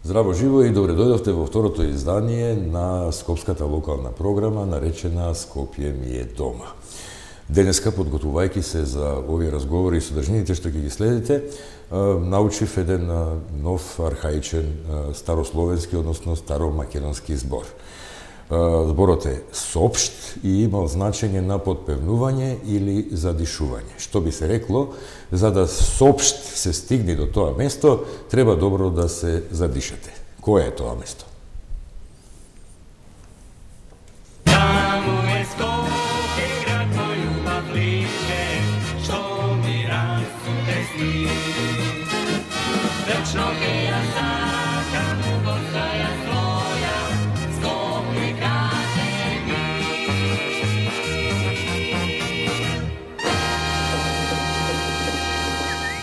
Здраво живо и добре дојдовте во второто издание на скопската локална програма наречена Скопје ми е дома. Денеска, подготвувајќи се за овие разговори и содржините што ќе ги следите, научив еден нов архаичен старословенски, односно старомакедонски збор. Зборот е сопшт и има значење на подпевнување или задишување. Што би се рекло, за да сопшт се стигне до тоа место, треба добро да се задишате. Кое е тоа место?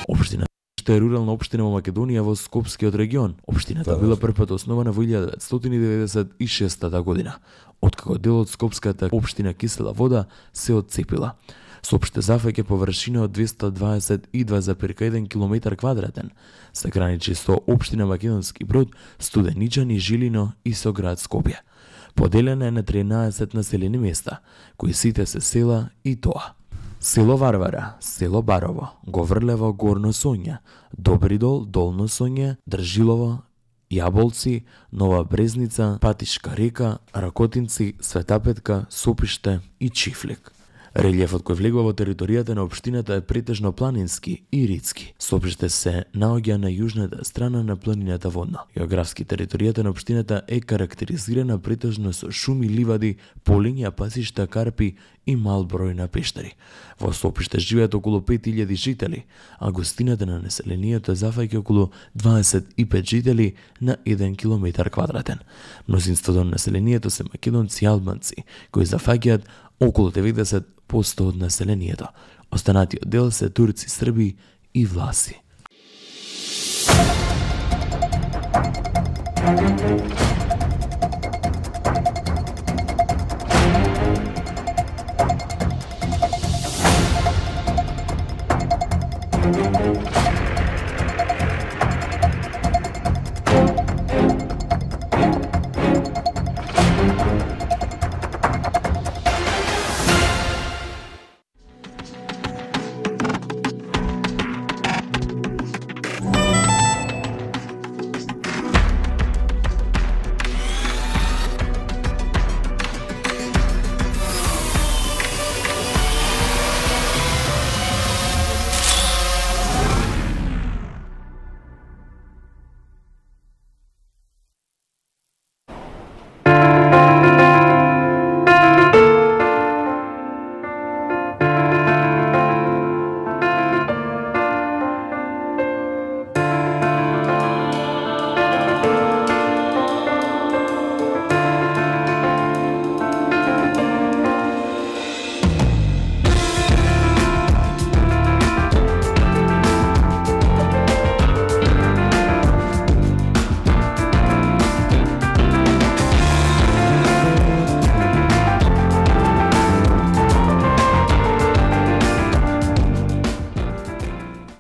Општина е рурална општина во Македонија во Скопскиот регион. Општината била првпат основана во 1996 година, откако дел од Скопската општина Кисела вода се отцепила. Сопште зафаќа површина од 222,1 км квадратен, се граничи со општина Македонски Брод, Студеничани, Жилино и со град Скопје. Поделена е на 13 населени места, кои сите се села и тоа: село Варвара, село Барово, Говрлево, Горно Сонје, Добридол, Долно Сонје, Држилово, Јаболци, Нова Брезница, Патишка река, Ракотинци, Светапетка, Сопиште и Чифлик. Релјефот кој влегува во територијата на општината е претежно планински и ридски. Сопиште се наоѓа на јужната страна на планината водно. Географски територијата на општината е карактеризирана претежно со шуми, ливади, полиња, пасишта, карпи и мал број на пештари. Во Сопиште живеат околу 5000 жители, а густината на населението зафаќа околу 25 жители на 1 километар квадратен. Мнозинството на населението се македонци и албанци, кои зафаќаат околу 90% од населението. Останатиот дел се турци, срби и власи.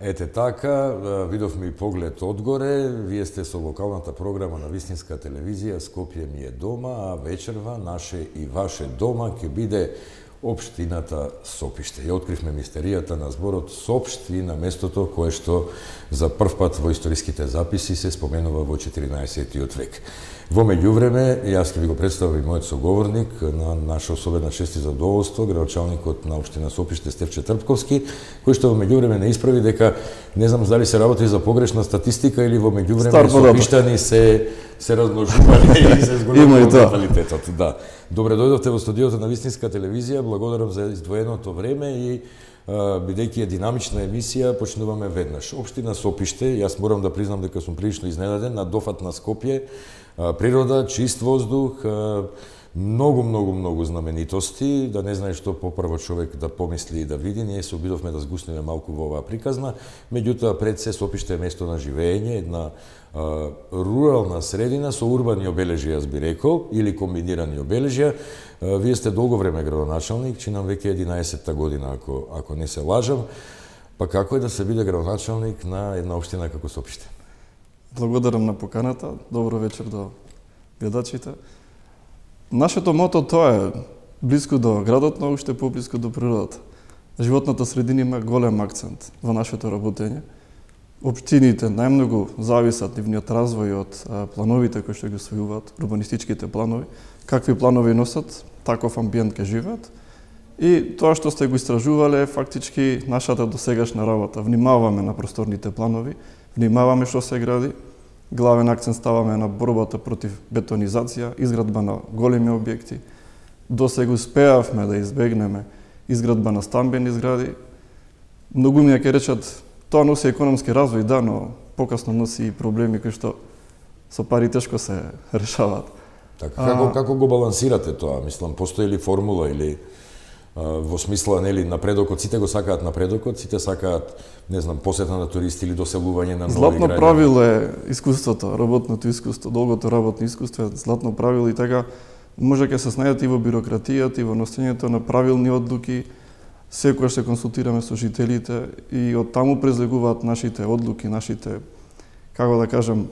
Ете така, видовме и поглед одгоре. Вие сте со локалната програма на вистинска телевизија Скопје ми е дома, а вечерва наше и ваше дома ќе биде општината Сопиште. Ја откривме мистеријата на зборот сопшт и на местото кое што за првпат во историските записи се споменува во 14 век. Во меѓувреме, јас ќе ви го представам и мојот соговорник, на наша особена чест и задоволство, градоначалникот на општина Сопиште Стефче Трпковски, кој што во меѓувреме не исправи дека не знам дали се работи за погрешна статистика или во меѓувреме сопиштани се размножувале и се зголемува наталитетот. Да. Добре дојдовте во студиото на вистинска телевизија. Благодарам за издвоеното време и бидејќи е динамична емисија, почнуваме веднаш. Општина Сопиште, јас морам да признам дека сум прилично изненаден на дофат на Скопје, природа, чист воздух, многу знаменитости, да не знае што попрво човек да помисли и да види. Ние се обидовме да сгуснеме малку во оваа приказна, меѓутоа пред се Сопиште е место на живење, една рурална средина со урбани обележја, јас би рекол, или комбинирани обележја. Вие сте долго време градоначалник, чинам веќе 11-та година, ако не се лажам. Па како е да се биде градоначалник на една општина како Сопиште? Благодарам на поканата. Добро вечер до гледачите. Нашето мото тоа е близко до градот, но уште поблиско до природата. Животната средина има голем акцент во нашето работење. Општините најмногу зависат нивниот развој од плановите кои што ги усвојуваат, урбанистичките планови. Какви планови носат, таков амбиент ке живеат. И тоа што сте го истражувале е фактички нашата досегашна работа. Внимаваме на просторните планови, внимаваме што се гради, главен акцент ставаме на борбата против бетонизација, изградба на големи објекти. Досега успеавме да избегнеме изградба на стамбени згради. Многу ми ќе речат, тоа носи економски развој, да, но покасно носи и проблеми кои што со пари тешко се решаваат. Така, како го балансирате тоа? Мислам, постои ли формула или во смисла, нели, напредокот, сите го сакаат напредокот, сите сакаат, не знам, посета на туристи или доселување на нови граѓани. Златно правило е искуството, работното искуство, долгото работно искуство е златно правило и така може ќе се снајдете и во бирократијата, и во носењето на правилни одлуки. Секогаш се консултираме со жителите и од таму презлегуваат нашите одлуки, нашите, како да кажем,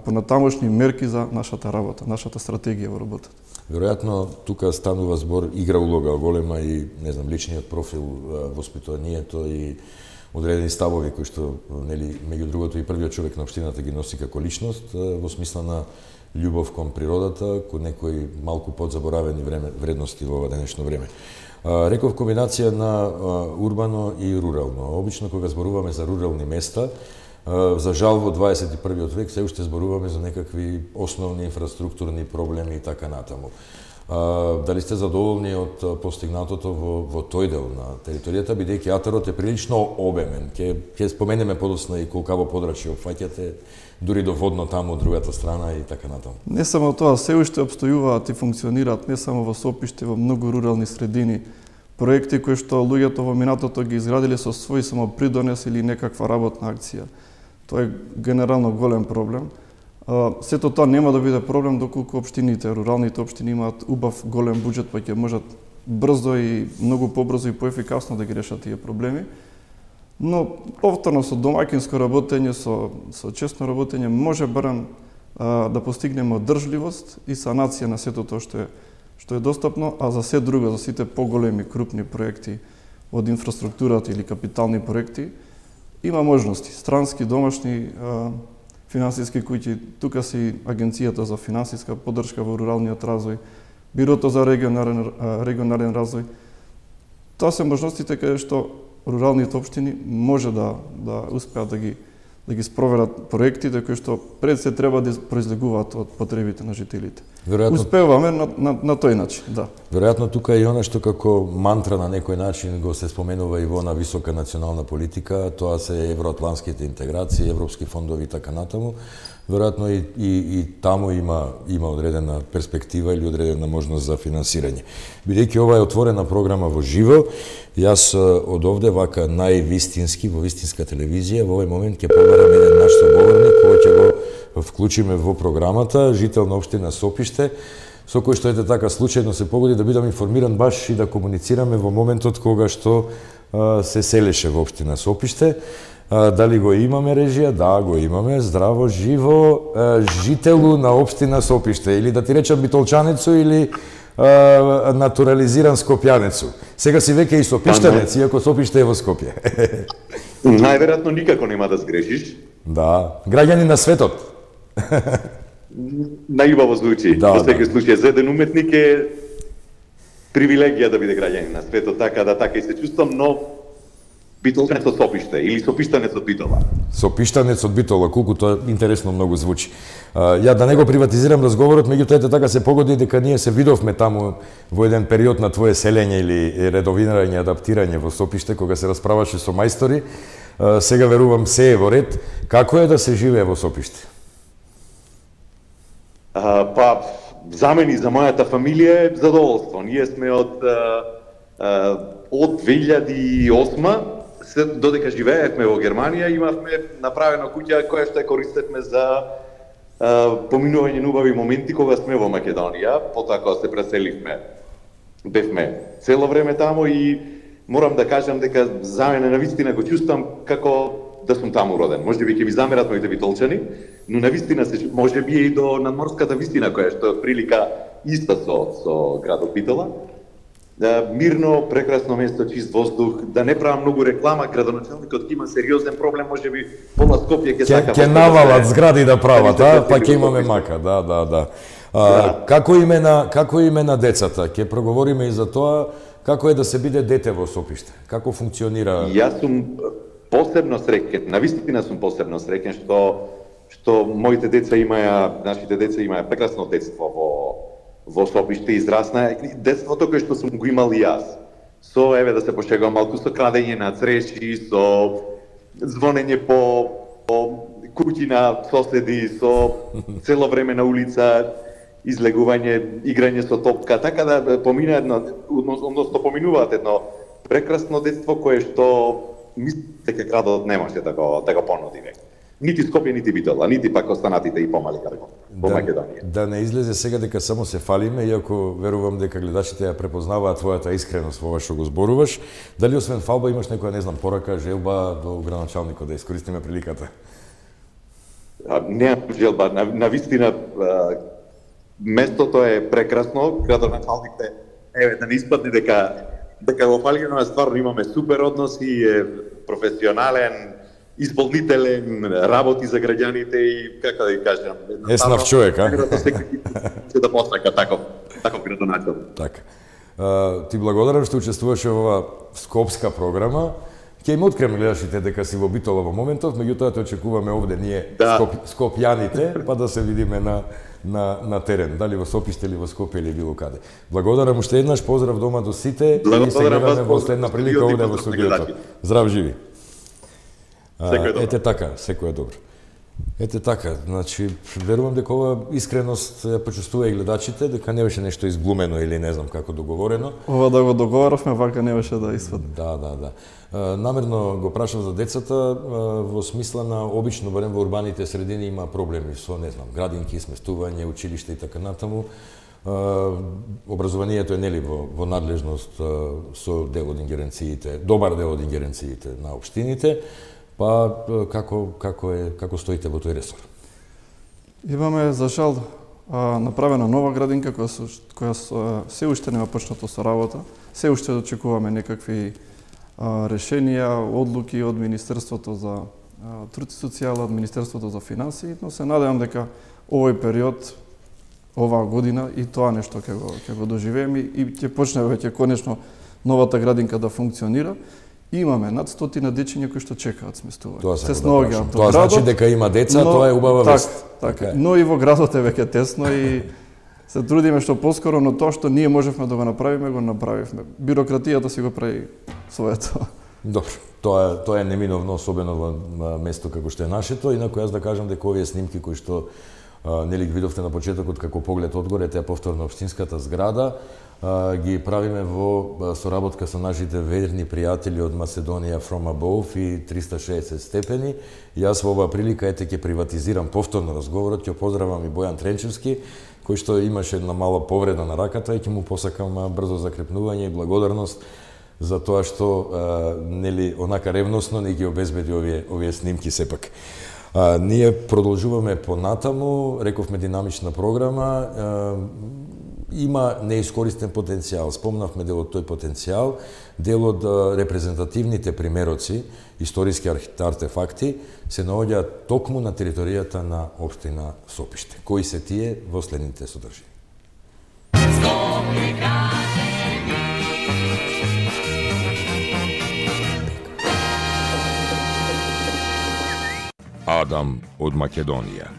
понатамошни мерки за нашата работа, нашата стратегија во работата. Веројатно тука станува збор, игра улога голема и, не знам, личниот профил, воспитанието и одредени ставови кои што, нели, меѓу другото и првиот човек на општината ги носи како личност, во смисла на љубов кон природата, кон некои малку подзаборавени вредности во ова денешно време. Реков комбинација на урбано и рурално. Обично кога зборуваме за рурални места, за жал во 21. век се уште зборуваме за некакви основни инфраструктурни проблеми и така натаму. Дали сте задоволни од постигнатото во тој дел на територијата, бидејќи атарот е прилично обемен. Ќе споменеме подосна и колкаво подрачје опфаќате, дури до водно таму од другата страна и така натаму. Не само тоа, се уште обстојуваат и функционираат не само во Сопиште, во многу рурални средини, проекти кои што луѓето во минатото ги изградиле со свој самопридонес или некаква работна акција. Тоа е генерално голем проблем. Сето тоа нема да биде проблем доколку општините, руралните општини имаат убав голем буџет, па ќе можат брзо и многу побрзо и поефикасно да ги решат тие проблеми. Но повторно со домаќинско работење, со честно работење може барем да постигнеме одржливост и санација на сето тоа што е достапно, а за се друго, за сите поголеми крупни проекти од инфраструктурата или капитални проекти, има можности, странски, домашни, финансиски куќи, тука си Агенцијата за финансиска поддршка во руралниот развој, Бирото за регионален развој. Тоа се можностите каде што руралните општини може да успеат да ги спроверат проектите кои што пред се треба да произлегуваат од потребите на жителите. Успеваме на тој начин, да. Веројатно тука е и она што како мантра на некој начин го се споменува и во на висока национална политика, тоа се евроатлантските интеграции, европски фондови и така натаму. Веројатно и таму има одредена перспектива или одредена можност за финансирање. Бидејќи ова е отворена програма во живо, јас од овде вака највистински, во вистинска телевизија, во овој момент ќе побарам еден наш соговорник, кој ќе го вклучиме во програмата, жител на општина Сопиште, со кој што ете така случајно се погоди да бидам информиран баш и да комуницираме во моментот кога што се селеше во општина Сопиште. Дали го имаме режија? Да, го имаме. Здраво, живо, жителу на општина Сопиште. Или да ти речам битолчанецу или натурализиран скопјанецу. Сега си веќе и сопиштанец, иако Сопиште е во Скопје. Најверојатно никако нема да сгрешиш. Да, граѓани на светот. Најубаво звучи. Да, во секој случај, за еден уметник е привилегија да биде граѓанин на светот, така и се чувствам, но битолчанец од Сопиште или сопиштанец од Битола. Сопиштанец од Битола, колку тоа интересно многу звучи. Ја да не го приватизирам разговорот, меѓутоа така се погоди дека ние се видовме таму во еден период на твое селење или редовирање, адаптирање во Сопиште, кога се расправаше со мајстори. Сега верувам се е во ред. Како е да се живее во Сопиште? Па, за мене и за мојата фамилија е задоволство. Ние сме од 2008 додека живеевме во Германија, имавме направена куќа која што ја користевме за поминување на убави моменти кога сме во Македонија, потоа кога се преселивме. Бевме цело време таму и морам да кажам дека за мене навистина го чувствам како да сум таму роден. Можеби ќе ми замерат моите битолчани, но навистина се можеби и до надморската вистина која што е прилика иста со градот Битола. Мирно, прекрасно место, чист воздух, да не правам многу реклама, градоначалникот ќе има сериозен проблем, можеби пола Скопје ќе сака ќе навалат згради да прават, па ќе имаме мака, да. Како име на децата? Ќе проговориме и за тоа како е да се биде дете во Сопиште. Како функционира? Јас сум посебно среќен, навистина сум посебно среќен што моите деца нашите деца имаја прекрасно детство во Сопиште, израсна детството кој што сум го имал и јас. Со, да се пошегувам малку, со крадење на цреши, со звонење по куќи на соседи, со цело време на улица, излегување, играње со топка, така да поминуваат едно прекрасно детство кое што мислите дека градот немаше да го понуди веќе. Нити Скопје, нити Битола, нити пак останатите и помали градови во Македонија. Да не излезе сега дека само се фалиме, иако верувам дека гледачите ја препознаваат твојата искреност во ова што го зборуваш. Дали освен фалба имаш некоја, не знам, порака, желба до градоначалникот, да искористиме приликата? Немам желба, навистина местото е прекрасно, градоначалниките, да не испадне дека во Фалино стварно имаме супер односи, е професионален, исполнителен, работи за граѓаните и, како да ја кажам, еснав човек, се да посака таков градоначалник. Така. Ти благодарам што учествуваше во ова скопска програма. Ќе им откриеме гледачите дека си во Битола во моментов, меѓутоа те очекуваме овде ние скопјаните, па да се видиме на терен, дали во Сопиште или во Скопје или било каде. Благодарам уште еднаш, поздрав дома до сите и се гледаме во следна прилика овде во студиото. Здрав живи. Ете така, секој е добро. Ете така, значи, верувам дека ова искреност ја почувствува и гледачите, дека не беше нешто изглумено или не знам како договорено. Ова да го договоравме, вака не беше да испадне. Да. Намерно го прашав за децата, во смисла на обично, барем во урбаните средини има проблеми со, не знам, градинки, сместување, училиште и така натаму. Образованието е нели во надлежност со дел од ингеренциите, добар дел од ингеренциите на општините. Па како стоите во тој ресор? Имаме за жал направена нова градинка која се уште нема почнато со работа. Се уште очекуваме некакви решенија, одлуки од Министерството за труд и социјала, од Министерството за финансии, но се надевам дека овој период, оваа година и тоа нешто ќе го доживееме и ќе почне веќе конечно новата градинка да функционира. Имаме над 100 дечиња кои што чекаат сместување. Тоа значи дека има деца, тоа е убава вест. Така. Но и во градот е веќе тесно и се трудиме што поскоро, но тоа што ние можевме да го направиме, го направивме. Бирократијата си го прави своето. Добро, тоа е неминовно, особено во место како што е нашето, инаку јас да кажам дека овие снимки кои што нели видовте на почетокот како поглед одгоре, таа повторно општинската зграда, ги правиме во соработка со нашите верни пријатели од Macedónia from above и 360 степени. Јас во оваа прилика ќе приватизирам повторно разговорот, ќе поздравам и Бојан Тренчевски, кој што имаше една мала повреда на раката и ќе му посакам брзо закрепнување и благодарност за тоа што нели онака ревносно ни ги обезбеди овие снимки сепак. Ние продолжуваме понатаму, рековме динамична програма, има неискористен потенцијал. Спомнавме дел од тој потенцијал, дел од репрезентативните примероци, историски артефакти, се наоѓаат токму на територијата на општина Сопиште. Кои се тие во следните содржини? Адам од Македонија.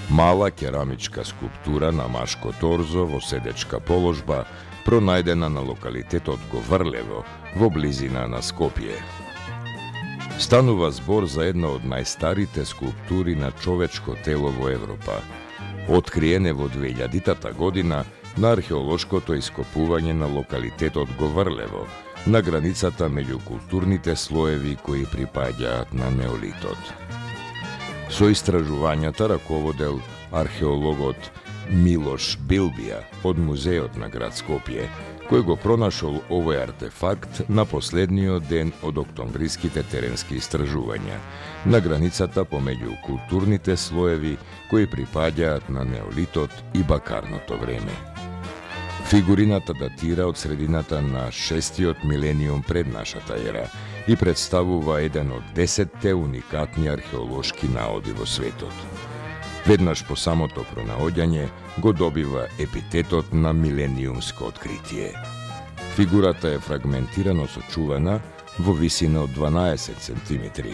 Мала керамичка скулптура на машко торзо во седечка положба, пронајдена на локалитетот Говрлево, во близина на Скопје. Станува збор за една од најстарите скулптури на човечко тело во Европа. Откриене во 2000 година на археолошкото ископување на локалитетот Говрлево, на границата меѓу културните слоеви кои припаѓаат на неолитот. Со истражувањата раководел археологот Милош Билбија од Музеот на град Скопје, кој го пронашол овој артефакт на последниот ден од октомвриските теренски истражувања, на границата помеѓу културните слоеви кои припаѓаат на неолитот и бакарното време. Фигурината датира од средината на 6-тиот милениум пред нашата ера и представува еден од 10-те уникатни археолошки наоди во светот. Веднаш по самото пронаоѓање го добива епитетот на милениумско откритие. Фигурата е фрагментирано сочувана во висина од 12 см.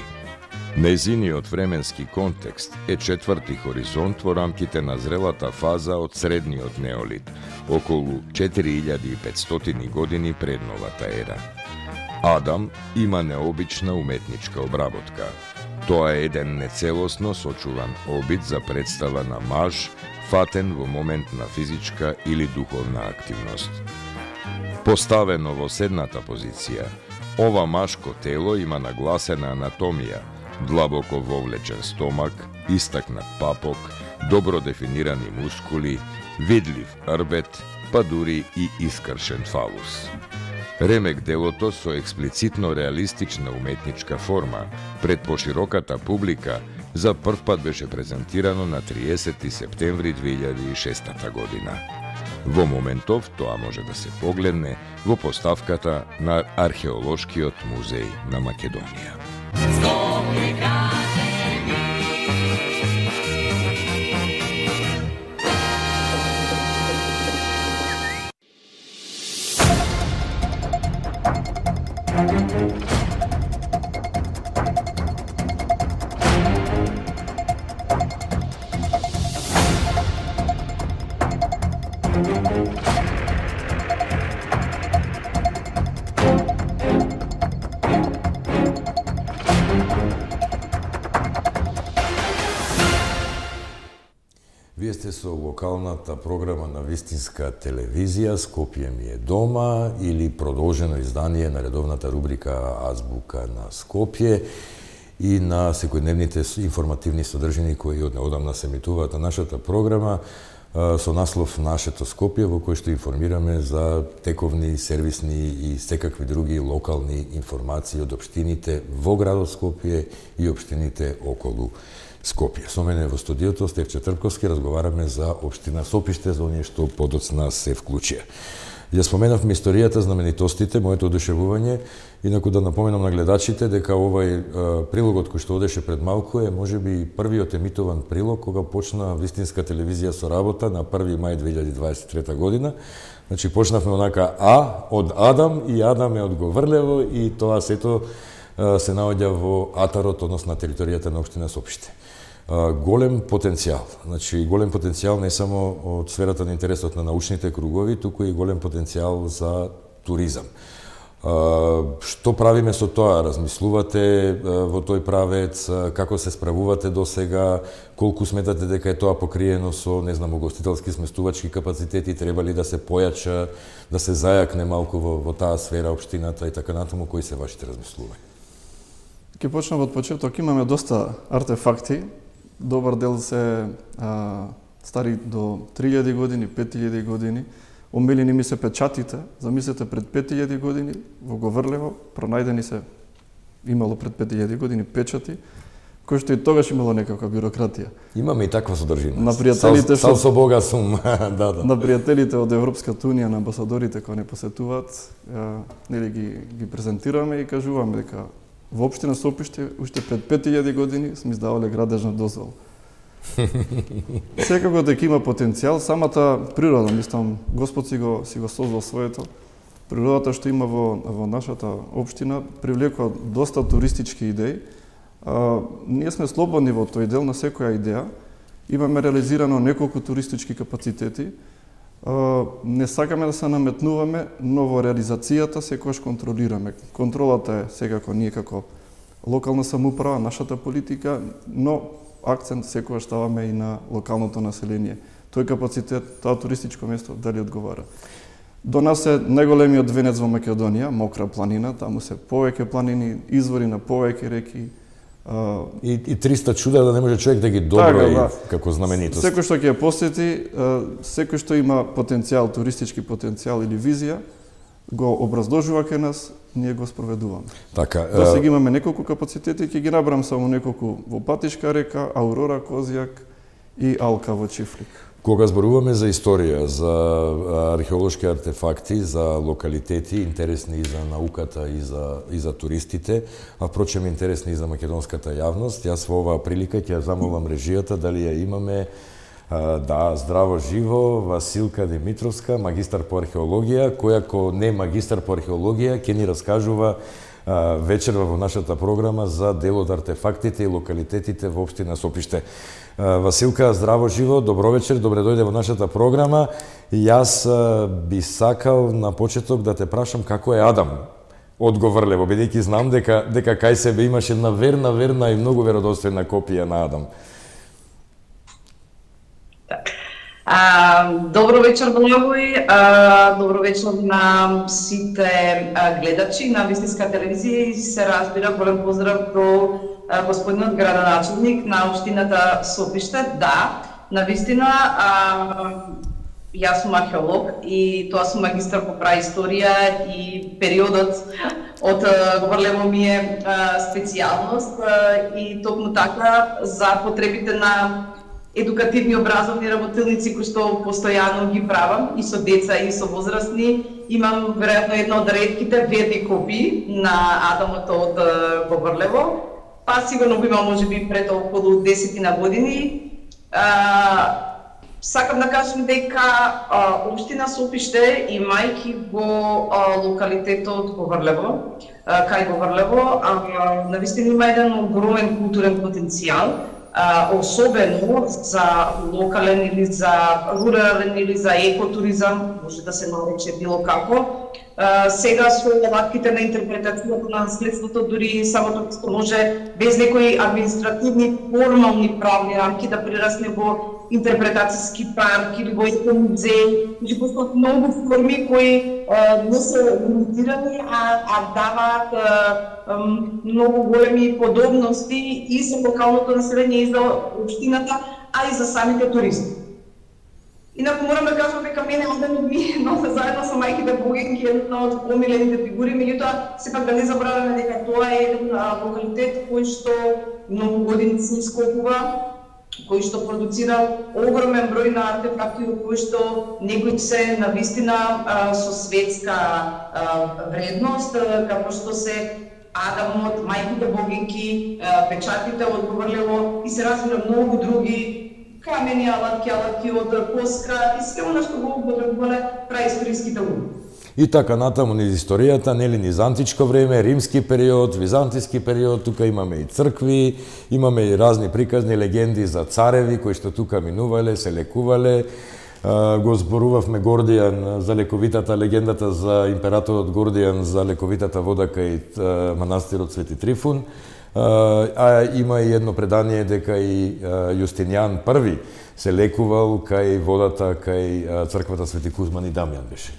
Нејзиниот временски контекст е четврти хоризонт во рамките на зрелата фаза од средниот неолит, околу 4500 години пред новата ера. Адам има необична уметничка обработка. Тоа е еден нецелосно сочуван обид за представа на маж, фатен во момент на физичка или духовна активност. Поставено во седната позиција, ова машко тело има нагласена анатомија, длабоко вовлечен стомак, истакнат папок, добро дефинирани мускули, видлив рбет, па дури и искршен фалус. Ремек делото со експлицитно реалистична уметничка форма пред пошироката публика за прв пат беше презентирано на 30 септември 2006 година. Во моментов тоа може да се погледне во поставката на Археолошкиот музеј на Македонија. Вие сте со локалната програма на вистинска телевизија Скопје ми е дома или продолжено издание на редовната рубрика Азбука на Скопје и на секојдневните информативни содржини кои од неодамна се емитуваат на нашата програма со наслов Нашето Скопје, во кој што информираме за тековни, сервисни и секакви други локални информации од општините во градот Скопје и општините околу Скопје. Со мене во студиото Стефче Трпковски разговараме за општина Сопиште, за оние што подоцна се вклучија. Ја споменавме историјата, знаменитостите, моето одушевување, инаку да напоменам на гледачите дека овај прилогот кој што одеше пред малку е можеби првиот емитован прилог кога почна вистинска телевизија со работа на 1 мај 2023 година. Значи почнавме онака од Адам и Адам е од Говрлево и тоа сето се наоѓа во атарот, односно на територијата на општина Сопиште. Голем потенцијал. Значи, голем потенцијал не само од сферата на интересот на научните кругови, туку и голем потенцијал за туризам. Што правиме со тоа? Размислувате во тој правец? Како се справувате до сега? Колку сметате дека е тоа покриено со, не знам, угостителски сместувачки капацитети? Треба ли да се појача, да се зајакне малку во таа сфера општината и така натаму? Кои се вашите размислувања? Ке почнам од почеток. Имаме доста артефакти. Добар дел се стари до 3000 години, 5000 години. Омилени ми се печатите. Замислете, пред 5000 години во Говрлево пронајдени се, имало пред 5000 години печати, кои што и тогаш имало некаква бюрократија. Имаме и таква содржина. На пријателите сал со Бога сум. Да. На пријателите од Европската унија, на амбасадорите кои не посетуваат, нели ги презентираме и кажуваме дека во општина Сопиште уште пред 5000 години сме издавале градежна дозвола. Секако дека има потенцијал, самата природа, мислам, Господ си го создал своето. Природата што има во нашата општина привлекува доста туристички идеи. Ние сме слободни во тој дел на секоја идеја. Имаме реализирано неколку туристички капацитети. Не сакаме да се наметнуваме, но во реализацијата секогаш контролираме. Контролата е секако ние како локална самоуправа, нашата политика, но акцент секогаш ставаме и на локалното население. Тој капацитет, тоа туристичко место, дали одговара. До нас е најголемиот венец во Македонија, Мокра планина, таму се повеќе планини, извори на повеќе реки. И 300 чуда да не може човек да ги доброи како знаменитост. Секој што ќе ја посети, секој што има потенцијал, туристички потенцијал или визија, го образложува кај нас, ние го спроведуваме. Така, До сега имаме неколку капацитети, ќе ги набрам само неколку во Патишка река, Аурора Козјак и Алка во Чифлик. Кога зборуваме за историја, за археолошки артефакти, за локалитети, интересни и за науката и за туристите, а впрочем интересни и за македонската јавност, јас во оваа прилика ќе замолам режијата дали ја имаме. Да, здраво живо, Василка Димитровска, магистар по археологија, која ко не магистар по археологија ќе ни раскажува вечерва во нашата програма за дел од артефактите и локалитетите во општина Сопиште. Василка, здраво живо, добро вечер, добре дојде во нашата програма. Јас би сакал на почеток да те прашам како е Адам од Говрлево, бидејќи знам дека кај себе имаш една верна и многу веродостојна копија на Адам. Добро вечер, Благој. Добро вечер на сите гледачи на Вистинска телевизија и се разбира голем поздрав до господинот градоначелник на општината Сопиште. Да, навистина, јас сум археолог и тоа сум магистар по праисторија и периодот од Говрлево ми е специјалност и токму така за потребите на едукативни образовни работилници кои што постојано ги правам и со деца и со возрастни. Имам веројатно една од ретките верни копии на Адамот од Говрлево. Па сигурно го имам можеби пред околу 10 години. Сакам да кажам дека општина Сопиште, имајќи го локалитетот Говрлево, кај Говрлево, навистина има еден огромен културен потенцијал, особено за локален или за рурален или за екотуризам, може да се нарече било како. Сега со алатките на интерпретацијата на наследството, дури самото што може без некои административни, формални правни рамки да прерасне во интерпретацијски парк или во екомузеј, значи постојат многу форми кои не се лимитирани, а даваат многу големи подобности и за локалното население, и за општината, а и за самите туристи. Инаку морам да кажам дека мене Адамот ми носи заедно со мајките Богенки една од помилените фигури, меѓутоа сепак да не забравяме дека тоа е еден локалитет кој што многу години се ископува, кој што продуцира огромен број на артефакти кои што некои се навистина со светска вредност, како што се Адамот, мајките Богенки, печатите од Говрлево и се разбира многу други камени, алатки од коска и се она што го употребувале праисториските луѓе. И така натаму низ историјата, нели низ античко време, римски период, византиски период, тука имаме и цркви, имаме и разни приказни легенди за цареви кои што тука минувале, се лекувале. Го зборувавме Гордијан за лековитата легендата за императорот Гордијан за лековитата вода кај манастирот Свети Трифун. А има и едно предание дека и Јустинијан I се лекувал кај водата кај црквата Свети Кузман и Дамјан беше.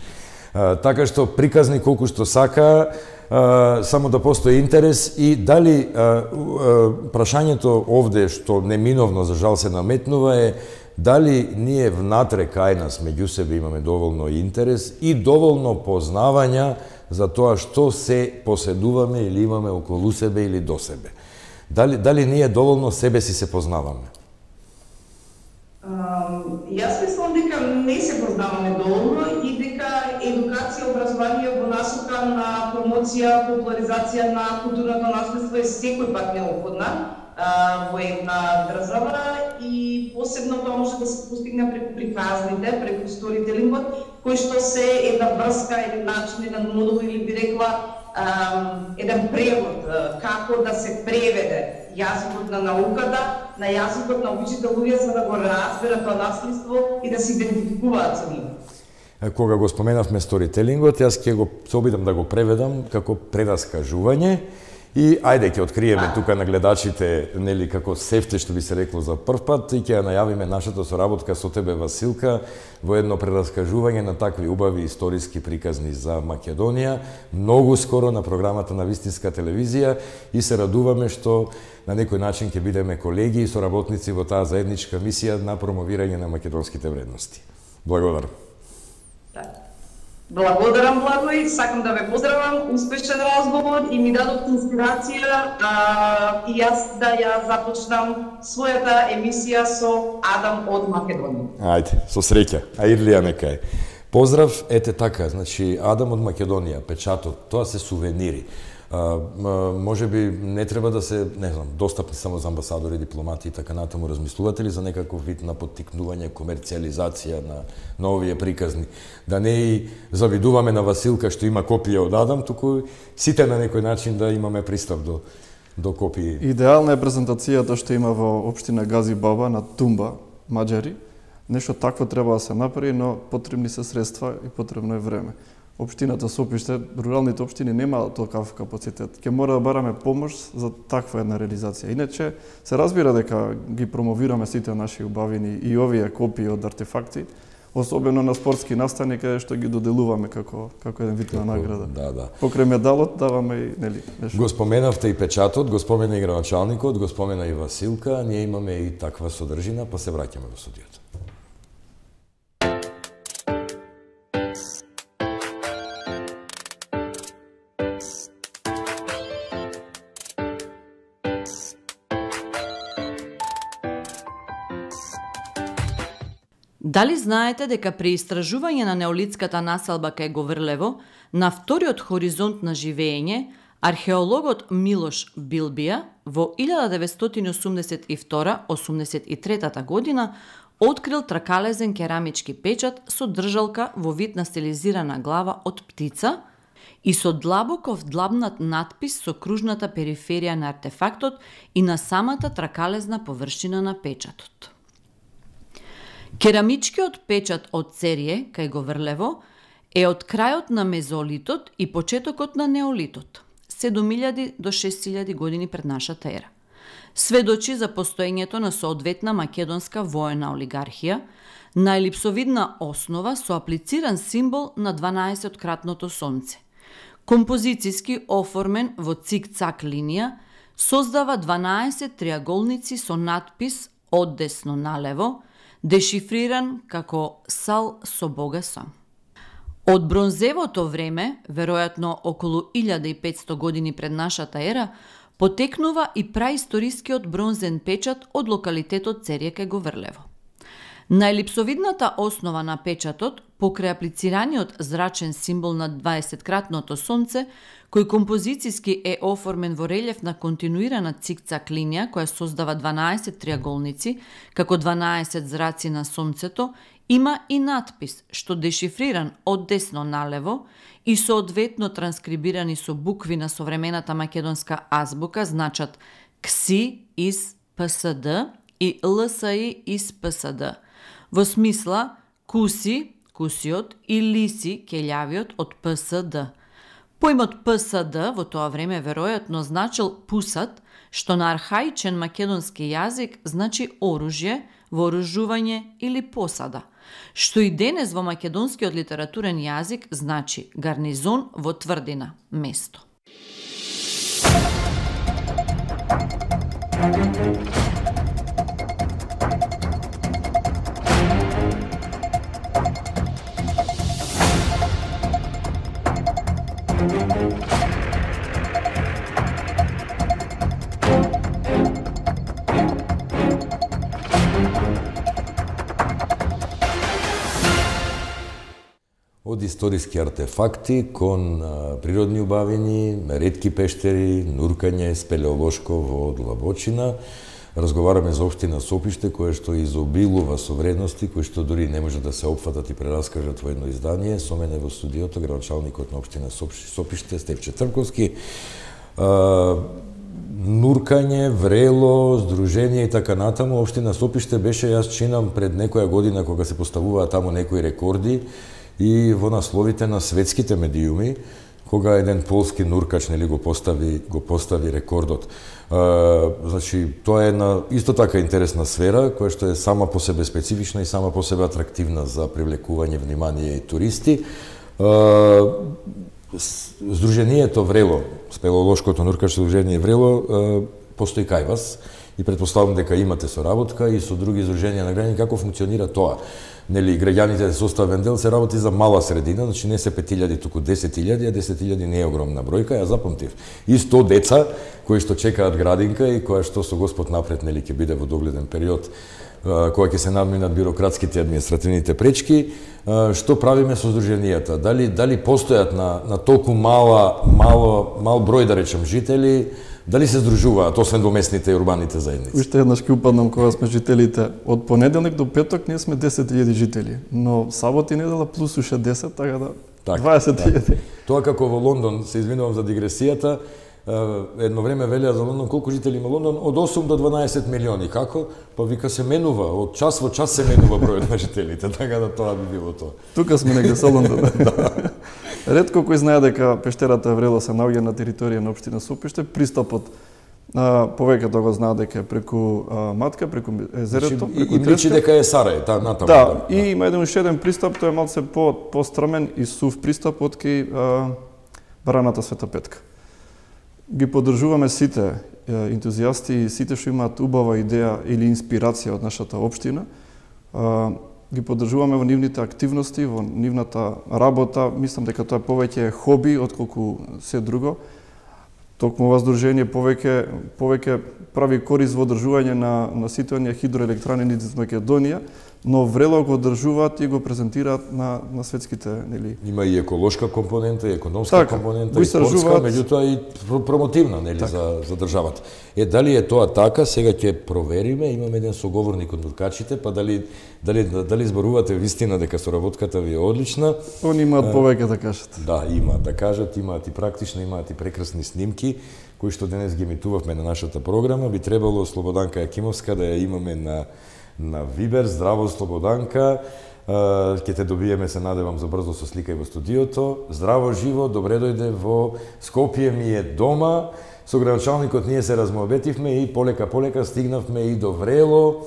Така што приказни колку што сака, само да постои интерес и дали прашањето овде што неминовно за жал се наметнува е дали ние внатре кај нас меѓу себе имаме доволно интерес и доволно познавања за тоа што се поседуваме или имаме околу себе или до себе. Дали ние доволно себе си се познаваме? Јас мислам дека не се познаваме доволно и дека едукација, образование во насока на промоција, популаризација на културното наследство е секој пат неопходна во една држава и посебно тоа може да се постигне преку приказните, преку сторителингот, кој што се една врска, еден начин, еден модул или би рекла еден превод, како да се преведе јазикот на науката, на јазикот на обичните луѓе за да го разберат тоа наследство и да се идентификуваат со него. Кога го споменавме сторителингот, јас ќе го се обидам да го преведам како прераскажување и ајде ќе откриеме тука на гледачите, нели како сефте што би се рекло за прв пат и ќе ја најавиме нашата соработка со тебе Василка во едно прераскажување на такви убави историски приказни за Македонија, многу скоро на програмата на Вистинска телевизија и се радуваме што на некој начин ќе бидеме колеги и соработници во таа заедничка мисија на промовирање на македонските вредности. Благодарам. Благодарам, Благој, сакам да ве поздравам, успешен разговор и ми дадот инспирација и јас да ја започнам својата емисија со Адам од Македонија. Ајде, со среќа. А Ирлија нека е. Поздрав, ете така, значи Адам од Македонија, печатот, тоа се сувенири. Може би не треба да се, не знам, достапни само за амбасадори, дипломати и така натаму. Размислувате ли за некаков вид на поттикнување, комерцијализација на овие приказни? Да не и завидуваме на Василка што има копија од Адам, туку сите на некој начин да имаме пристап до копии. Идеална е презентацијата што има во општина Гази Баба на Тумба, Маđари. Нешто такво треба да се направи, но потребни се средства и потребно е време. Општината Сопиште, руралните општини немаат толкав капацитет. Ќе мора да бараме помош за таква една реализација. Иначе се разбира дека ги промовираме сите наши убавини и овие копии од артефакти, особено на спортски настани каде што ги доделуваме како еден вид на награда. Да. Покрај медалот даваме и нешто. Го споменавте и печатот, го спомена и градоначалникот, го спомена и Василка, ние имаме и таква содржина, па се враќаме во студиото. Дали знаете дека при истражување на неолитската населба кај Говрлево, на вториот хоризонт на живење, археологот Милош Билбија во 1982-83 година открил тракалезен керамички печат со држалка во вид на стилизирана глава од птица и со длабоко вдлабнат натпис со кружната периферија на артефактот и на самата тракалезна површина на печатот. Керамичкиот печат од Церје, кај Говрлево, е од крајот на мезолитот и почетокот на неолитот, 7000 до 6000 години пред нашата ера. Сведочи за постоењето на соодветна македонска воена олигархија, на елипсовидна основа со аплициран символ на 12-кратното сонце. Композициски оформен во цик-цак линија, создава 12 триаголници со надпис од десно налево, дешифриран како сал со Бога сам. Од бронзевото време, веројатно околу 1500 години пред нашата ера, потекнува и праисторискиот бронзен печат од локалитетот Церје кај Говрлево. На елипсовидната основа на печатот, покрај аплицираниот зрачен символ на 20-кратното сонце, кој композициски е оформен во релјеф на континуирана цик-цак линија која создава 12 триаголници, како 12 зраци на сонцето, има и надпис што дешифриран од десно налево и соодветно транскрибирани со букви на современата македонска азбука значат КСИ из ПСД и ЛСИ из ПСД. Во смисла куси, кусиот и лиси, келјавиот од ПСД. Поимот ПСД во тоа време веројатно значил пусат, што на архаичен македонски јазик значи оружје, вооружување или посада, што и денес во македонскиот литературен јазик значи гарнизон во тврдина, место. Од историски артефакти кон природни убавини, ретки пештери, нуркање, спелеолошко во длабочина. Разговараме за општина Сопиште, која што изобилува со вредности, кои што дури не може да се опфатат и прераскажат во едно издание. Со мене во студиото градоначалникот на општина Сопиште, Стефче Трвковски. Нуркање, врело, здружение и така натаму. Општина Сопиште беше, јас чинам пред некоја година кога се поставуваа таму некои рекорди и во насловите на светските медиуми, кога еден полски нуркач нели го постави рекордот. Значи, тоа е една исто така интересна сфера, која што е сама по себе специфична и сама по себе атрактивна за привлекување внимание и туристи. Здруженијето Врело, спелеолошкото нуркачко здружение Врело, постои кај вас и предпоставам дека имате соработка и со други издруженија на граѓани, како функционира тоа? Нели граѓаните составен дел се работи за мала средина, значи не се 5000, туку 10.000, а 10.000 не е огромна бројка, ја запамтив. И 100 деца кои што чекаат градинка и која што со Господ напред нели ќе биде во догледен период, кога ќе се надминат бирократските и административните пречки. Што правиме со здруженијата? Дали постојат на толку мал број, да речем, жители, дали се здружуваат, освен во местните и урбаните заедници? Уште еднаш ќе упаднам кога сме жителите. Од понеделник до петок ние сме 10.000 жители, но сабота и недела плюс уште 10, така да 20.000. Тоа како во Лондон, се извинувам за дигресијата, едно време велеа за Лондон, колку жители има Лондон? Од 8 до 12 милиони. Како? Па вика се менува, од час во час се менува бројот на жителите, така да тоа би било тоа. Тука сме негде со Лондон. Ретко кој знае дека пештерата Врело се наоѓа на територија на општина Сопиште, пристапот повеќето го знаат дека е преку Матка, преку езерото, преку Треска. И личи дека е Сарај, натаму. Да, и има еден уште еден пристап, тој е малце пострмен и сув пристап од кај Бараната Света Петка. Ги поддржуваме сите ентузијасти и сите што имаат убава идеја или инспирација од нашата општина. Ги поддржуваме во нивните активности, во нивната работа. Мислам дека тоа повеќе е хоби отколку се друго. Токму ова здружение повеќе прави корист во одржување на сите оние хидроелектрани низ Македонија, но Врело го одржуваат и го презентираат на светските, нели. Има и еколошка компонента, и економска компонента, и спортска, меѓутоа и промотивна, нели, за државата. Дали е тоа така, сега ќе провериме, имаме еден соговорник од нуркачите, па дали зборувате вистина дека соработката ви е одлична. Они имаат повеќе да кажат. Да, имаат да кажат, имаат и практично, имаат и прекрасни снимки, кои што денес ги емитувавме на нашата програма. Би требало Слободанка Јакимовска да ја имаме на Вибер. Здраво, Слободанка. Ќе те добиеме, се надевам, за брзо со слика и во студиото. Здраво, живо, добре дојде во Скопје ми е дома. Со градоначалникот ние се размоабетивме и полека стигнавме и до Врело,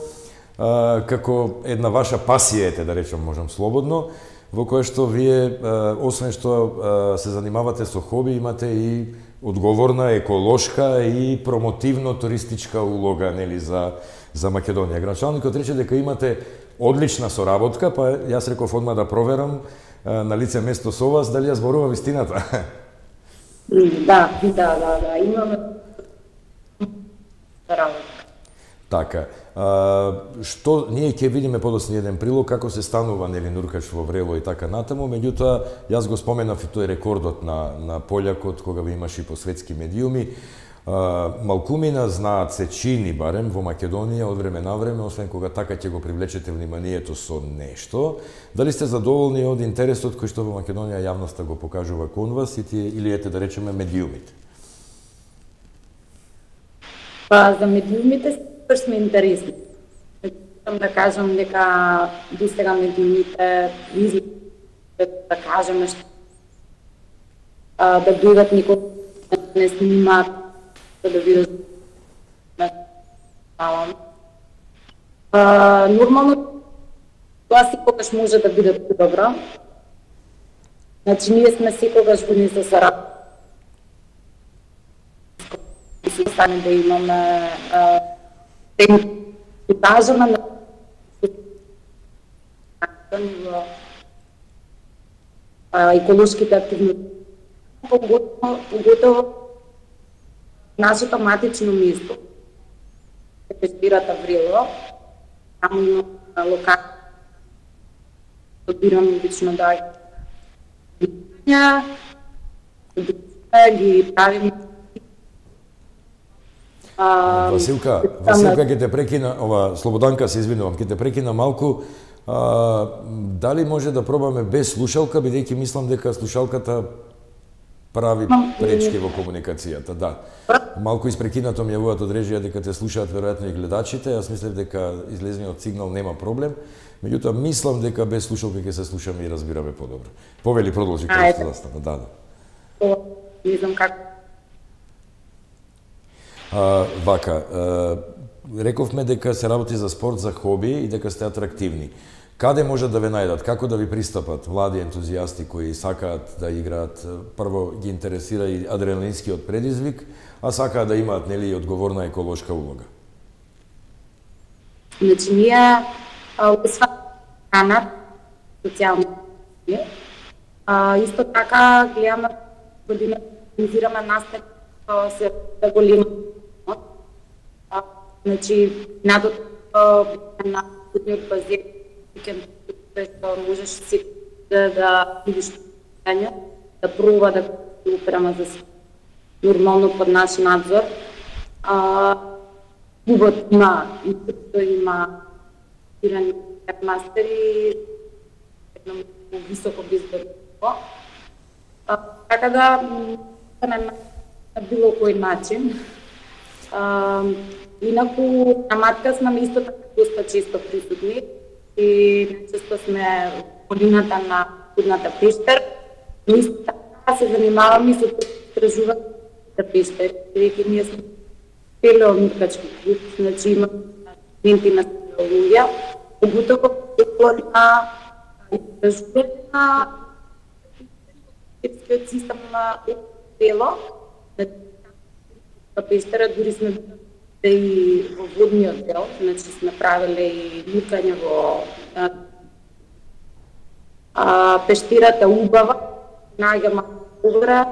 како една ваша пасија, да речем, можам слободно, во која што вие, освен што се занимавате со хоби, имате и одговорна, еколошка и промотивно туристичка улога, нели, за Македонија. Градоначалникот рече дека имате одлична соработка, па јас реков одма да проверам на лице место со вас, дали ја зборува вистината? Да, имаме работа. Така, што ние ќе видиме подоцна еден прилог како се станува, нели, нуркач во Врело и така натаму, меѓутоа јас го споменав и тој рекордот на полјакот кога ви имаше и по светски медиуми. Малкумина знаат се чини барем во Македонија од време на време, освен кога така ќе го привлечете вниманието со нешто. Дали сте задоволни од интересот кој што во Македонија јавноста го покажува кон вас или ете да речеме медиумите? Па за медиумите сме интересни. Да кажам дека до сега медиумите да кажеме што да дојдат никој не снимаат да видат нормално тоа секогаш може да биде добро. Значи ние сме секогаш години со саработка. Сами да имаме покажаме на еколошките активности, поготово нашето матично место, пештерата Врело, таму има локација, одбирам лично да ги правим. Василка, ќе те прекина, Слободанка, се извинувам, ќе те прекина малку. Дали може да пробаме без слушалка, бидејќи мислам дека слушалката прави пречки во комуникацијата, да. Малку испрекинато ми јавуваат од режија дека те слушаат веројатно и гледачите, јас мислев дека излезниот сигнал нема проблем, меѓутоа мислам дека без слушалка ќе се слушаме и разбираме подобро. Повели, продолжи како што застана, да. Не знам како. Вака, рековме дека се работи за спорт, за хоби и дека сте атрактивни. Каде може да ве најдат? Како да ви пристапат млади ентузијасти кои сакаат да играат? Прво ги интересира и адреналинскиот предизвик, а сакаат да имаат, нели, одговорна еколошка улога. Значи, ние освен храна, социјално, исто така гледаме година, организираме настани, се да голема. Значи, надото на годниот базир, што можеш си да видиш да пробува да упрема за нормално под наш надзор. Клубот има ирани мастери, едно високо безбедно. Така да на било кој начин. Инаку на матка сме исто така доста често присутни и често сме в годината на Кудната пештер. Но исто така се занимаваме со истражување на пештер, бидејќи ние сме пелеонуркачки клуб, значи има студенти на спелеологија, поготово на истражување на пештерскиот систем на пело. На пештера дури сме и во водниот дел, значи сме правиле и нуркање во пештирата убава, најгама убра,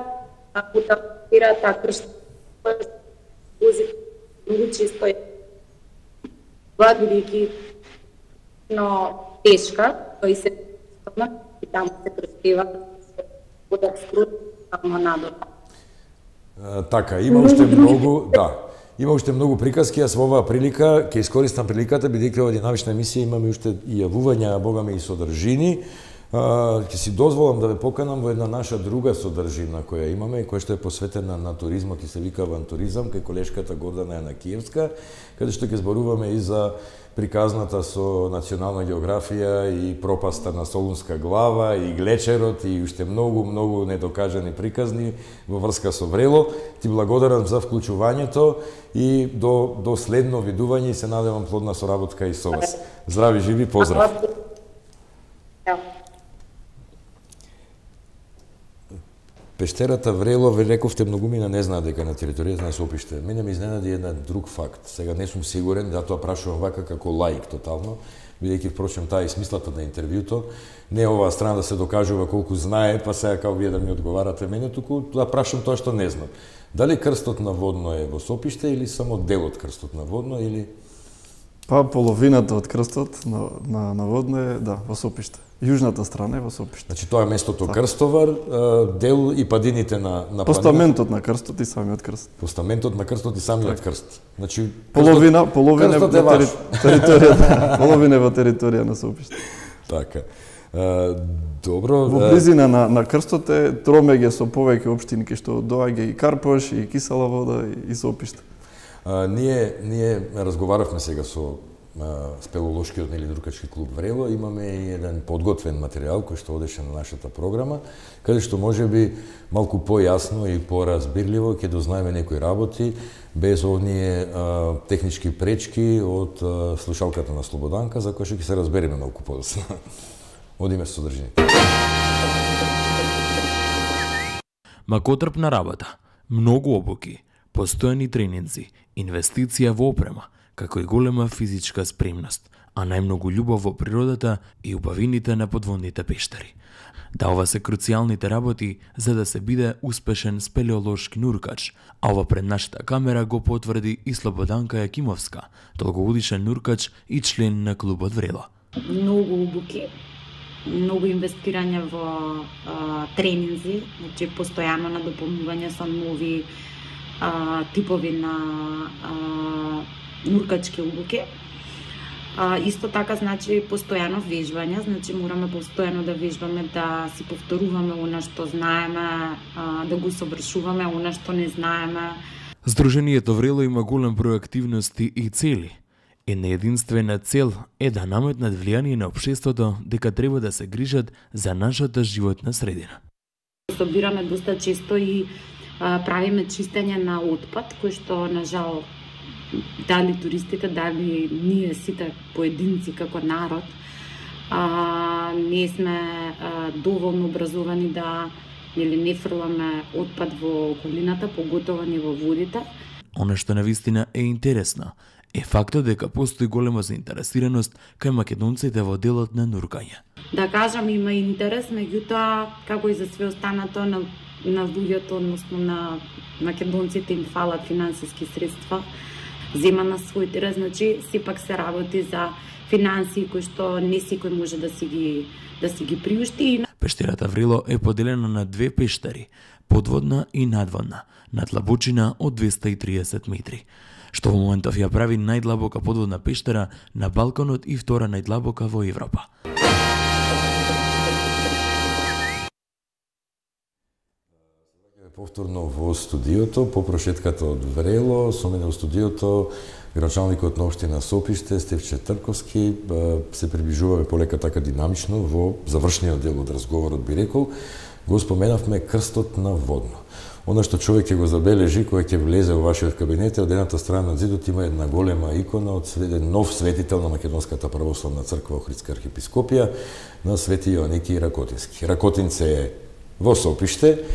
пута пештирата кршта, многу често е бидејќи тешка, кој се и таму се крштева, вода скрут, таму надолу. Така, има уште многу, има уште многу приказки, јас во оваа прилика ќе искористам приликата, бидејќи ова динамична емисија имаме уште и јавувања, а богаме и содржини. Ќе си дозволам да ве поканам во една наша друга содржина која имаме и која што е посветена на туризмот и се вика авантуризам, кај колешката Гордана Јанакиевска, каде што ќе зборуваме и за приказната со национална географија и пропаста на Солунска глава и глечерот и уште многу недокажани приказни во врска со Врело. Ти благодарам за вклучувањето и до следно видување и се надевам плодна соработка и со вас. Здрави, живи, поздрав. Пештерата Врело, ве рековте, многумина не знаат дека на територијата на Сопиште. Мене ме изненади еден друг факт. Сега не сум сигурен, затоа прашувам вака како лаик тотално, бидејќи впрочем таа е смислата на интервјуто. Не е оваа страна да се докажува колку знае, па сега као вие да ми одговарате мене, туку да прашам тоа што не знам. Дали крстот на Водно е во Сопиште или само дел од крстот на Водно или Па половината од крстот на Водно е, во Сопиште. Јужната страна е во Сопиште. Значи тоа е местото Крстовар, дел и падините на Постаментот на крстот и самиот крст. Постаментот на крстот и самиот крст. Значи половина во територија, половина во територија на Сопиште. Така. Добро. Во близина на крстот е тромеѓе со повеќе општини кај што доаѓа и Карпош и Кисела Вода и Сопиште. Ние разговаравме сега со спелеолошкиот или друкачки клуб Врело, имаме и еден подготвен материјал кој што одеше на нашата програма, каде што можеби малку појасно и поразбирливо ќе дознаеме некои работи без овние технички пречки од слушалката на Слободанка, за кој што ќе се разбереме малку подоцна. Одиме со содржините. Макотрпна работа, многу обуки, постојани тренинзи, инвестиција во опрема, како и голема физичка спремност, а најмногу љубов во природата и убавините на подводните пештери. Да, ова се круцијалните работи за да се биде успешен спелеолошки нуркач, а ова пред нашата камера го потврди и Слободанка Јакимовска, долгогодишен нуркач и член на клубот Врело. Многу обуки, многу инвестирање во тренинзи, значи постојано на дополнување со нови типови на нуркачки обуки. Исто така, значи, постојано вежбање, значи мораме постојано да вежбаме, да си повторуваме она што знаеме, да го совршуваме она што не знаеме. Сдруженијето Врело има голем број активности и цели. Една единствена цел е да наметнат влијание на општеството дека треба да се грижат за нашата животна средина. Собираме доста често и правиме чистење на отпад, кој што, на жал, дали туристите, дали ние сите поединци како народ, не сме доволно образовани да не фрламе отпад во околината, поготово не во водите. Она што навистина е интересно е фактот дека постои голема заинтересираност кај македонците во делот на нуркање. Да кажам, има интерес, меѓутоа, како и за све останато на луѓето, односно на македонците им фалат финансиски средства, зема на свој терен, значи сепак се работи за финансии кои што не секој може да си ги приушти. Пештерата Врело е поделена на две пештери, подводна и надводна, на длабочина од 230 метри, што во моментов ја прави најдлабока подводна пештера на Балканот и втора најдлабока во Европа. Повторно во студиото, по прошетката од Врело, со мене во студиото градоначалникот на општина Сопиште, Стефче Трковски, се приближуваме полека така динамично во завршниот дел од разговорот, би рекол, го споменавме крстот на водно. Она што човек ќе го забележи кога ќе влезе во вашиот кабинет, од едната страна на зидот има една голема икона од нов светител на Македонската православна црква Охридска архиепископија на Свети Јоаники Ракотински. Ракотинце е во Сопиште,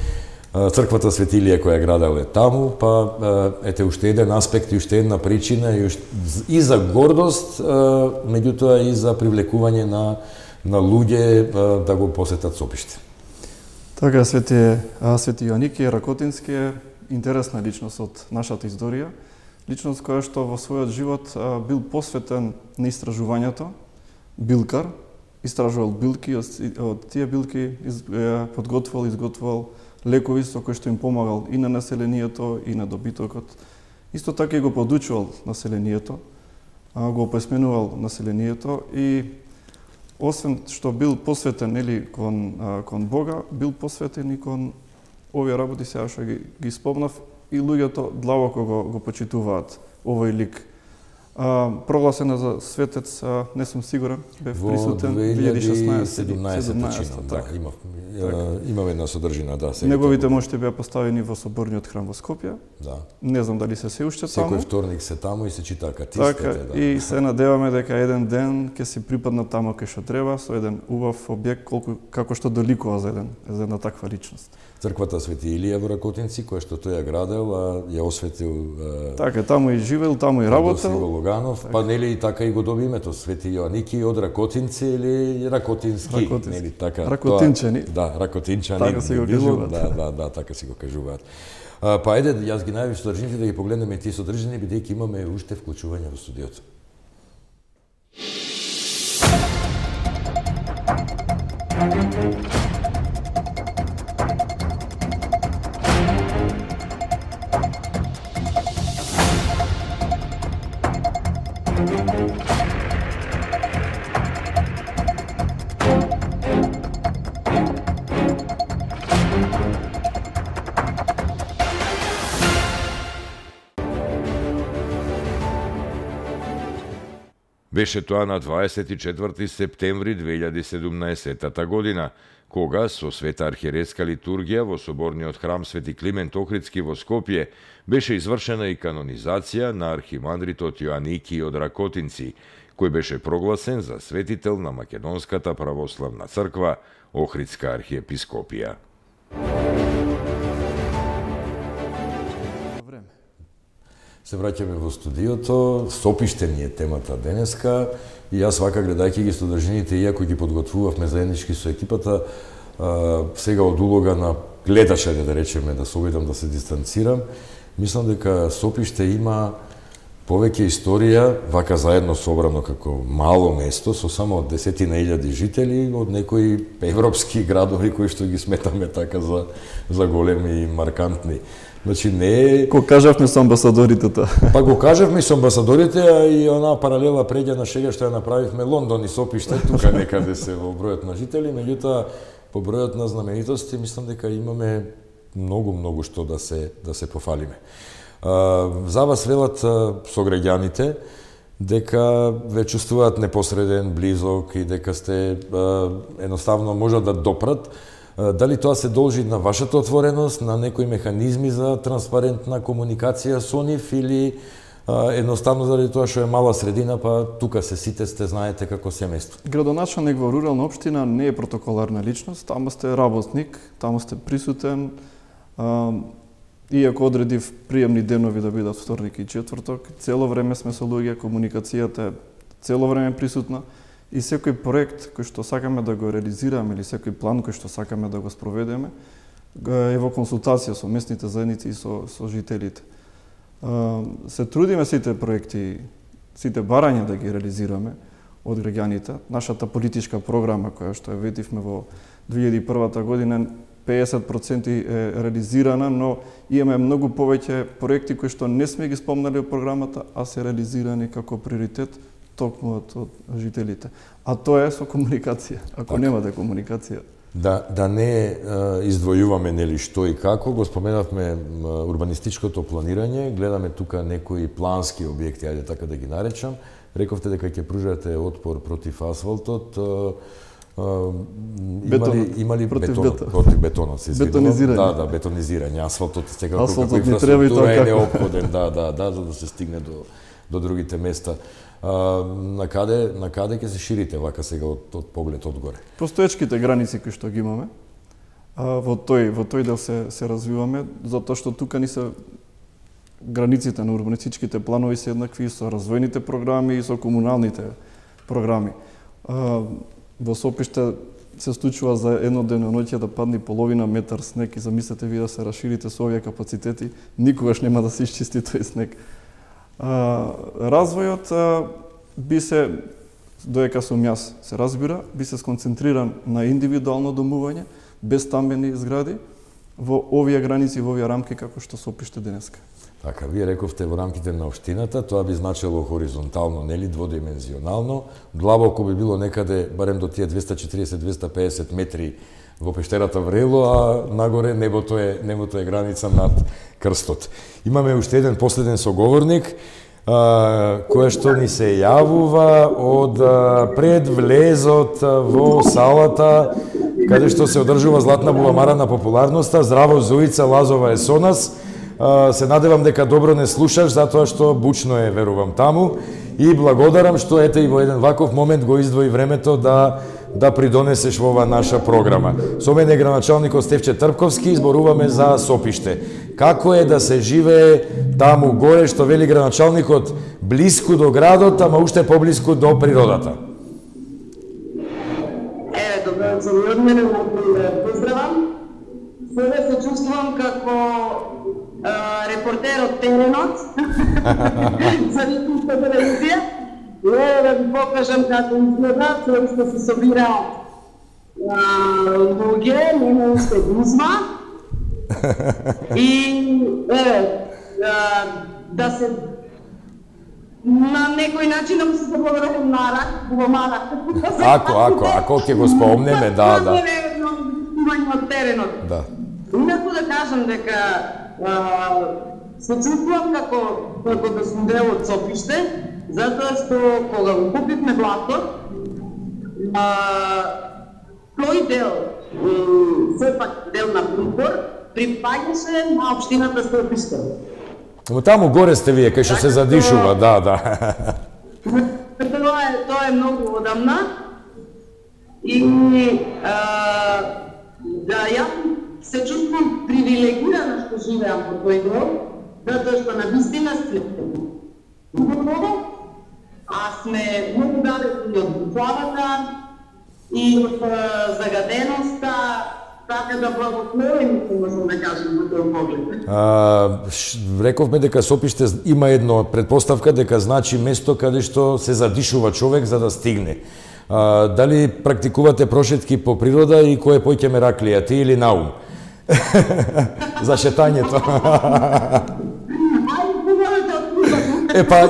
црквата Свети Илија која градел е таму, па ете уште еден аспект и уште една причина и за гордост, меѓутоа и за привлекување на луѓе да го посетат Сопиште. Така, Свети Јоаники Ракотински е интересна личност од нашата историја, личност која што во својот живот бил посветен на истражувањето, билкар, истражувал билки, од тие билки изготвувал лекови со кои што им помагал и на населението и на добитокот. Исто така и го подучувал населението, го описменувал населението и освен што бил посветен кон Бога, бил посветен и кон овие работи сега што ги спомнав и луѓето длабоко го почитуваат овој лик. Прогласена за светец, не сум сигурен, бев присутен 2016-17 така. Имаме една содржина, да. Неговите мошти беа поставени во соборниот храм во Скопје. Да. Не знам дали се уште таму. Секој вторник се таму и се чита катистите. Така, да. и се надеваме дека еден ден ќе се припадна таму кај што треба, со еден убав објект како што доликува за една таква личност. Црквата Свети Илија во Ракотинци, која што тој ја градел, ја осветил. Така, таму и живел, таму и работел. Логанов, па нели и така и го доби името Свети Јоаники од Ракотинци или Ракотински, нели така. Ракотинчани. Да, Ракотинчани. Така се го кажуваат. Да, така се го кажуваат. Па ајде, јас ги најавив содржините да ги погледнеме тие содржини, бидејќи имаме уште вклучување во студиото. Беше тоа на 24 септември 2017 година, кога со света архиерејска литургија во соборниот храм Свети Климент Охридски во Скопје беше извршена и канонизација на архимандритот Јоаники од Ракотинци, кој беше прогласен за светител на Македонската православна црква Охридска архиепископија. Се враќаме во студиото, Сопиште ни е темата денеска и јас вака гледајќи ги содржините, иако ги подготвувавме заеднички со екипата, сега од улога на гледача, да речеме, да се обидам да се дистанцирам, мислам дека Сопиште има повеќе историја, вака заедно собрано како мало место, со само 10.000 жители, од некои европски градови кои што ги сметаме така за големи и маркантни. Значи не е... Го кажавме со амбасадорите тоа. Па го кажавме со амбасадорите, а и она паралела преѓа на шега што ја направивме Лондон и Сопиште, тука некаде се во бројот на жители, меѓутоа по бројот на знаменитости мислам дека имаме многу што да се пофалиме. За вас велат сограѓаните дека ве чувствуваат непосреден, близок и дека сте едноставно можат да допрат. Дали тоа се должи на вашата отвореност, на некои механизми за транспарентна комуникација со нив или едноставно заради тоа што е мала средина, па тука сите сте знаете како семејство? Градоначалник во рурална општина не е протоколарна личност, таму сте работник, таму сте присутен, иако одредив приемни денови да бидат вторник и четврток, цело време сме со луѓе, комуникацијата е цело време присутна и секој проект кој што сакаме да го реализираме или секој план кој што сакаме да го спроведеме е во консултација со местните заедници и со жителите. Се трудиме сите проекти, сите барања да ги реализираме од граѓаните. Нашата политичка програма која што ја ветивме во 2001 година 50% е реализирана, но имаме многу повеќе проекти кои што не сме ги спомнали во програмата, а се реализирани како приоритет токму од жителите. А тоа е со комуникација. Ако немате комуникација. Да не издвојуваме нели што и како, го споменавме урбанистичкото планирање, гледаме тука некои плански објекти, ајде така да ги наречам. Рековте дека ќе пружате отпор против асфалтот. Имали против бетонот, се извинувам. Бетонизирање. Да, бетонизирање. Асфалтот секако како инфраструктура е неопходен, за да се стигне до другите места. На каде ќе се ширите вака сега од поглед одгоре? Постоечките граници кои што ги имаме, во тој дел се развиваме, затоа што тука ни се границите на урбанистичките планови се еднакви со развојните програми и со комуналните програми. Во Сопиште се случува за едно деноноќе да падне половина метар снег и замислете ви да се расширите со овие капацитети, никогаш нема да се исчисти тој снег. Развојот би се, доека сум јас се разбира, би се сконцентриран на индивидуално домување, без стамбени згради, во овие граници, во овие рамки како што Сопиште денеска. Така, вие рековте во рамките на општината, тоа би значило хоризонтално, нели, дводимензионално, длабоко би било некаде, барем до тие 240-250 метри во пештерата Врело, а нагоре небото е граница над крстот. Имаме уште еден последен соговорник, кој што ни се јавува од пред влезот во салата, каде што се одржува Златна буламара на популарноста. Здраво, Зоица Лазова е со нас. Се надевам дека добро не слушаш, затоа што бучно е, верувам, таму. И благодарам што ете и во еден ваков момент го издвои времето да придонесеш во ова наша програма. Со мене е градоначалникот Стефче Трпковски, зборуваме за Сопиште. Како е да се живее таму горе, што вели градоначалникот, блиску до градот, ама уште поблиску до природата? Добро, за мене поздравам. Сега се чувствувам како репортер од теренот за Вистинска телевизија. Да ви покажам како изгледа, тоа што се собираат луѓе, нема уште гузма. И да се на некој начин да се заблагодарам на Буламара. Ако ќе го спомнеме, да. Од теренот. Да. Инаку да кажам дека се чувствувам како да сум дел од Сопиште, затоа што кога го купивме блатот, тој дел, сепак дел на Припор, припаѓаше на општината Сопиште. Но таму горе сте вие, кај што се задишува, да. Тоа е многу одамна и да јас се чувствувам привилегирана што живеам во тој дел, затоа што на вистина сме убаво, а сме многу далеку од буфавата и од загаденоста, така да благословим, можам да кажем, во тој поглед. Рековме дека Сопиште има една предпоставка дека значи место каде што се задишува човек за да стигне. Дали практикувате прошетки по природа и кој поќе Мераклија, ти или Наум? За шетањето.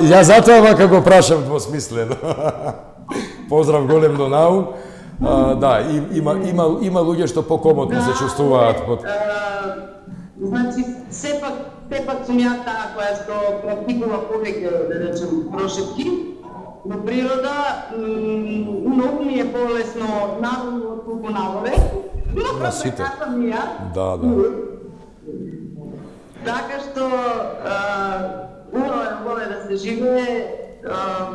Ја затоа вака го прашам двосмислено. Поздрав голем до Наум. Да, има луѓе што покомотно се чувствуваат. Значи, сепак сум ја таа која што практикува повеќе, да речем, прошетки. Во природа, многу ми е полесно надолу отколку нагоре. На сите. Да. Така што убаво е да се живее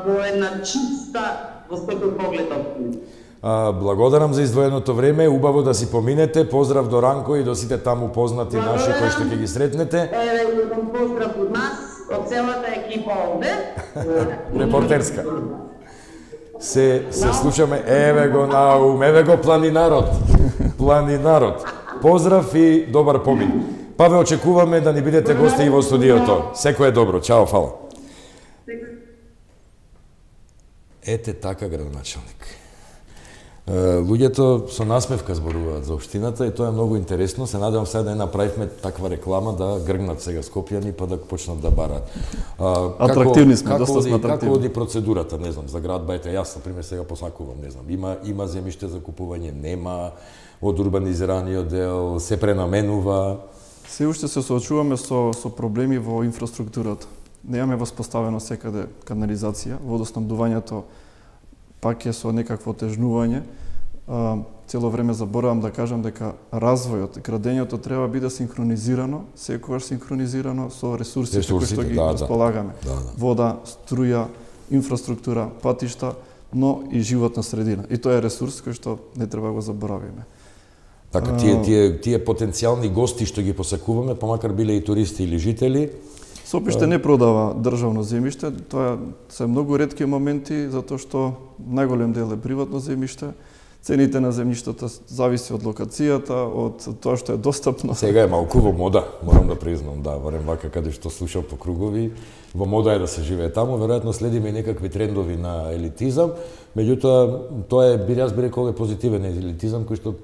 во една чиста, во секој поглед општина. Благодарам за издвоеното време, убаво да си поминете, поздрав до Ранко и до сите таму познати наши кои што ќе ги сретнете. Поздрав од нас, од целата екипа овде. Репортерска. Се слушаме, еве го Наум, еве го планинарот. Планинарот. Поздрав и добар помин. Па ве очекуваме да ни бидете гости и во студиото. Секое добро. Чао, фала. Ете така, градоначалник. Луѓето со насмевка зборуваат за општината и тоа е многу интересно. Се надевам сега да не направивме таква реклама да гргнат сега скопјани па да почнат да барат. Атрактивни сме, доста сме атрактивни. Како оди процедурата, не знам, за град Бајта? Јас, например, сега посакувам, не знам, има земјиште за купување, нема, од урбанизираниот дел, се пренаменува. Се уште се соочуваме со проблеми во инфраструктурата. Немаме воспоставено секаде канализација, водоснабдувањето пак е со некакво тежнување. Цело време заборавам да кажам дека развојот, градењето треба биде синхронизирано, секогаш синхронизирано со ресурсите кои што ги располагаме. Вода, струја, инфраструктура, патишта, но и животна средина. И тоа е ресурс кој што не треба го заборавиме. Така, тие потенцијални гости што ги посакуваме, помакар биле и туристи или жители, Сопиште не продава државно земјиште, тоа се многу ретки моменти, затоа што најголем дел е приватно земјиште. Цените на земјиштата зависи од локацијата, од тоа што е достапно. Сега е малку во мода, морам да признам, да, барем вака каде што слушам по кругови, во мода е да се живее таму, веројатно следиме некакви трендови на елитизам, меѓутоа тоа е, јас би рекол, позитивен елитизам кој што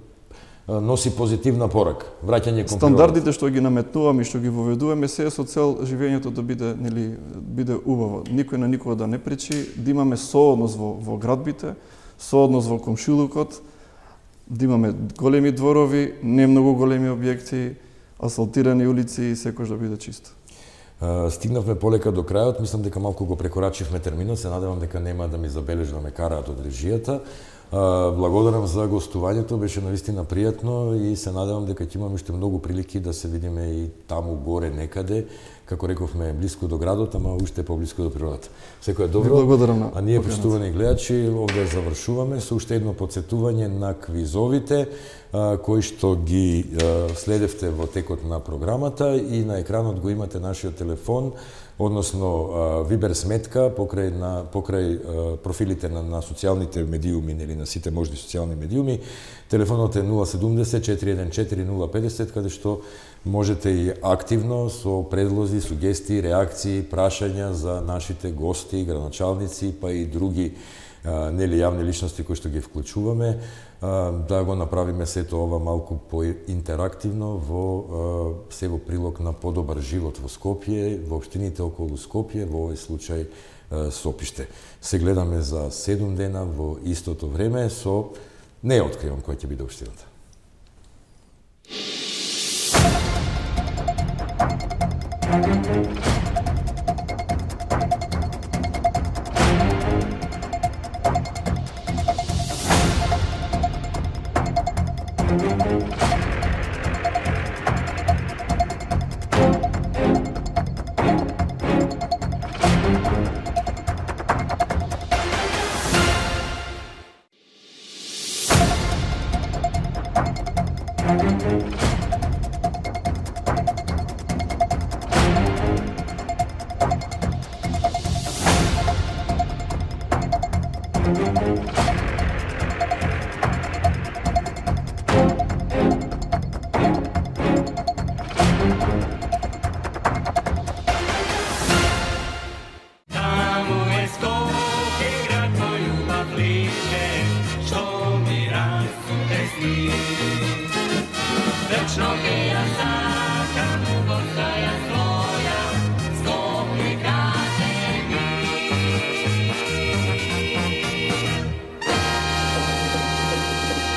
носи позитивна порака, враќање кон стандардите што ги наметнуваме и што ги воведуваме се со цел живењето да биде убаво. Никој на никого да не пречи, да имаме сооднос во градбите, сооднос во комшилукот, да имаме големи дворови, не многу големи објекти, асфалтирани улици и секој да биде чисто. Стигнавме полека до крајот, мислам дека малку го прекорачивме терминот, се надевам дека нема да ми забележи да ме караат од режијата. Благодарам за гостувањето, беше навистина пријатно и се надевам дека ќе имаме уште многу прилики да се видиме и таму горе некаде, како рековме, блиску до градот, ама уште поблиску до природата. Секој е добро. Благодарам. А ние, почитувани гледачи, овде завршуваме со уште едно потсетување на квизовите кои што ги следевте во текот на програмата и на екранот го имате нашиот телефон, односно Вибер сметка покрај профилите на социјалните медиуми или на сите можни социјални медиуми. Телефонот е 070 414 050, каде што можете и активно со предлози, сугестии, реакции, прашања за нашите гости, градоначалници, па и други нели јавни личности кои што ги вклучуваме, да го направиме сето ова малку поинтерактивно се во прилог на подобар живот во Скопје, во општините околу Скопје, во овој случај Сопиште. Се гледаме за 7 дена во истото време со не откривам која ќе биде општината. Thank you.